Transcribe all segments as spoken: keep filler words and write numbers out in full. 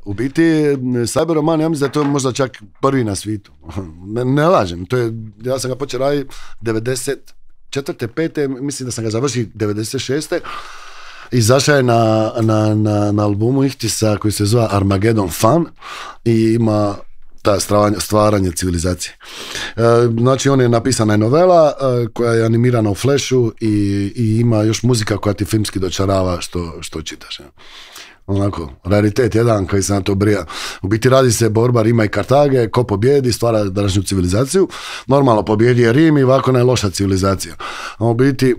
U biti, Cyberroman, ja mislim da je to možda čak prvi na svijetu. Ne, ne lažem, to je, ja sam ga počeo raditi devedeset četvrte, pete, mislim da sam ga završio devedeset šeste Izašao je na, na, na, na albumu Ihtisa koji se zove Armageddon Fun i ima ta stvaranje, stvaranje civilizacije. E, znači, on je napisana je novela e, koja je animirana u Flashu i, i ima još muzika koja ti filmski dočarava što, što čitaš. Ja. Onako, raritet jedan koji se na to brija. U biti radi se borba Rima i Kartage, ko pobjedi, stvara današnju civilizaciju. Normalno pobjedi je Rim i ovako je loša civilizacija. A u biti,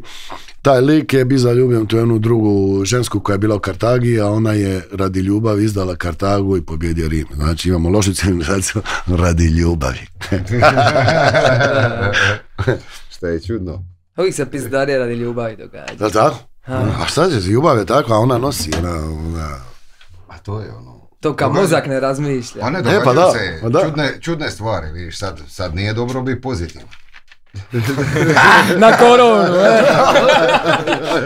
taj lik je bio zaljubljen tu jednu drugu žensku koja je bila u Kartagi, a ona je radi ljubavi izdala Kartagu i pobjedio Rim. Znači imamo lošu civilizaciju radi ljubavi. Što je čudno. Uvijek se pizdarije radi ljubavi događa. Da li tako? Ha. A šta će, ljubav je takva, ona nosi. Ona, ona... A to je ono... To kao mozak ne razmišlja. A ne, događaju pa da, se pa da. Čudne, čudne stvari, vidiš, sad, sad nije dobro biti pozitivno. Na koronu, e.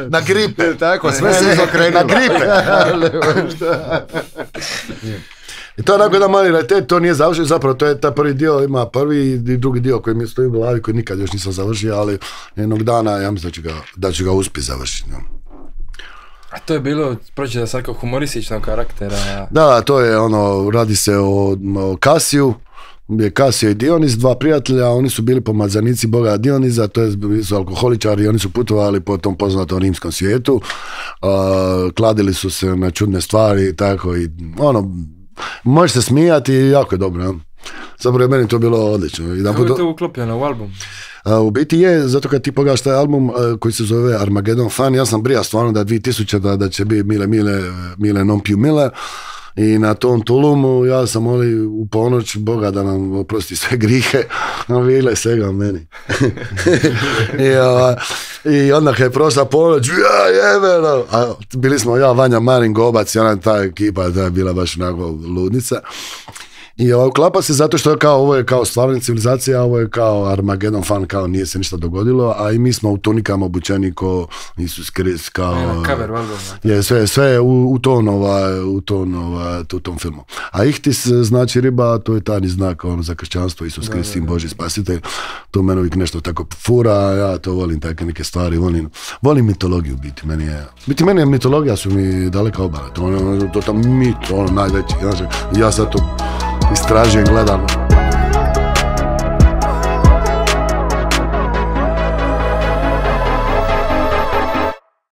Na gripe. Tako, sve se izokrenilo. Na gripe. I to je onako jedan mali raritet, to nije završeno, zapravo to je taj prvi dio, ima prvi i drugi dio koji mi stoji u glavi, koji nikad još nisam završio, ali jednog dana ja mislim da ću ga, da ću ga uspjeti završiti. No. A to je bilo, proći da sad kao humorističnog karaktera. Da, to je ono, radi se o, o Kasiju, je Kasio i Dionis, dva prijatelja, oni su bili pomazanici boga Dioniza, to je, su alkoholičari, oni su putovali po tom poznatom rimskom svijetu, uh, kladili su se na čudne stvari, tako i ono, možeš se smijati i jako je dobro. Ja. Zapravo je meni to bilo odlično. Kako je to uklopljeno u album? Uh, u biti je, zato kad ti pogledaš taj album uh, koji se zove Armageddon Fun, ja sam brija stvarno da dvije tisuće da, da će biti mile, mile, mile non più mile. I na tom Tulumu ja sam molio u ponoć Boga da nam oprosti sve grihe, a vile svega meni. I, a, I onda kad je prošla ponoć, ja jebeno, a bili smo ja, Vanja, Marin, Gobac i ona ta ekipa, ta je bila baš onako ludnica. I ovo uklapa se zato što je kao, ovo je kao stvarna civilizacija, ovo je kao Armageddon Fun, kao nije se ništa dogodilo, a i mi smo u tunikama obučeni ko Isus Krist, kao... Cover, je, sve, sve u, u ton, ova, u ton, ova, u tom filmu. A Ihtis znači riba, to je tajni znak ono, za kršćanstvo, Isus Krist, sin Boži spasitelj, to meni uvijek nešto tako fura, ja to volim, takve neke stvari, volim, volim mitologiju biti, meni je, biti meni je mitologija su mi daleka obala, to je to, to, to mit, ono najveći, znači, ja sad to istražujem, gledam.